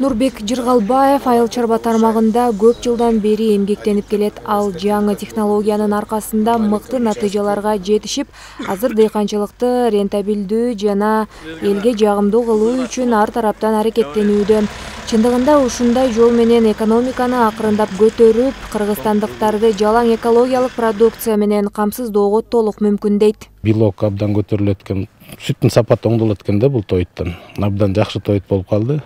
Нурбек Жыргалбаев айыл чарба тармагында көп жылдан бери эмгектенип келет. Ал жаңы технологиянын аркасында мыкты натыйжаларга жетишип, азыр дыйканчылыкты рентабилдүү жана элге жагымдуу кылуу үчүн ар тараптан аракеттенүүдө. Чындыгында ушундай жол менен экономиканы акырындап көтөрүп, кыргызстандыктарды жалаң экологиялык продукция менен камсыздоого толук мүмкүн дейт. Белок абдан көтөрүлөт экен, сүттүн сапаты оңдолот экен да бул тоюттан. Абдан жакшы тоют болуп калды.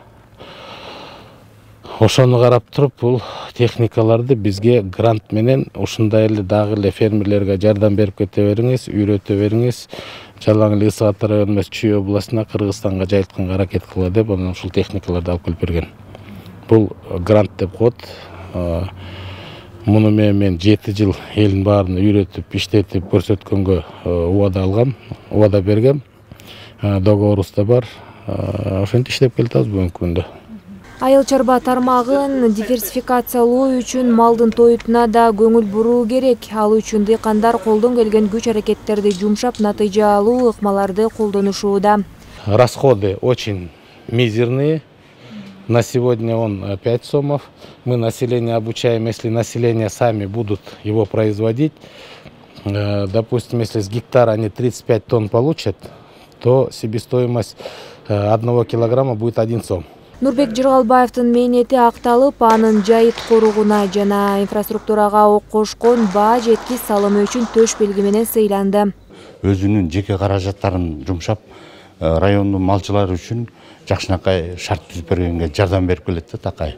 Ошону карап туруп, бул техникаларды бизге грант менен ушундай эле дагы эле фермерлерге жардам берип кете бериңиз, үйрөтө бериңиз. Жалаң эле Ысык Ата району эмес, Чүй областына, Кыргызстанга жайылтканга аракет кыла деп, анан ушул техникаларды алып келип берген. Бул грант деп коет. Муну мен 7 жыл элдин баарын үйрөтүп, иштетип көрсөткөнгө убада алгам, убада бергем. Договорубуз да бар. Ошентип иштеп келатабыз бүгүнкү күндө. Айыл чарба тармагын диверсификациялоо үчүн малдын тоютуна да көңүл буруу керек. Ал үчүн дыйкандар колдон келген күч аракеттерди жумшап, натыйжалуу ыкмаларды колдонушууда. Расходы очень мизерные. На сегодня он 5 сомов. Мы население обучаем, если население сами будут его производить. Допустим, если с гектара они 35 тонн получат, то себестоимость 1 килограмма будет 1 сом. Нурбек Жыргалбаевдин мээнети акталып, анын жайыт коругуна жана инфраструктурага кошкон баа жеткис салымы үчүн төш белги менен сыйланды. Өзүнүн жеке каражаттарын жумшап, райондун малчылары үчүн жакшынакай шарт түзүп бергенге жардам берип келет да такай.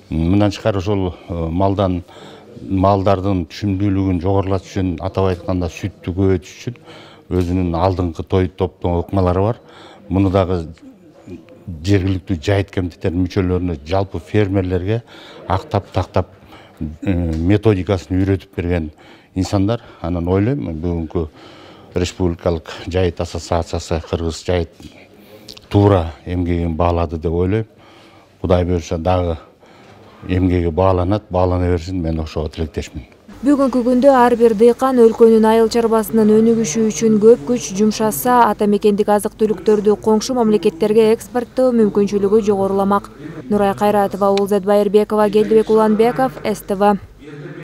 Мындан тышкары ошол малдардын түшүмдүүлүгүн жогорулатыш үчүн, атап айтканда сүттү көбөйтүш үчүн өзүнүн алдыңкы тоют топтоо ыкмалары бар. Муну дагы жергиликтүү жайыт комитеттеринин мүчөлөрүнө, жалпы фермерлерге тактап методикасын үйрөтүп берген инсандар. Анан ойлойм, бүгүнкү республикалык жайыт ассоциациясы кыргыз жайыт туура эмгегин баалады деп ойлойм. Кудай буюрса дагы эмгеги баалана берсин, мен ошого тилектешмин. Бүгүнкү күндө ар бир дыйкан өлкөнүн айыл чарбасынын өнүгүшү үчүн көп күч жумшаса, ата мекендик азык түлүктөрдү коңшу мамлекеттерге экспорттоо мүмкүнчүлүгү жогоруламак. Нурай Кайратова, Улзат Байырбекова, Келдибек Уланбеков, СТВ.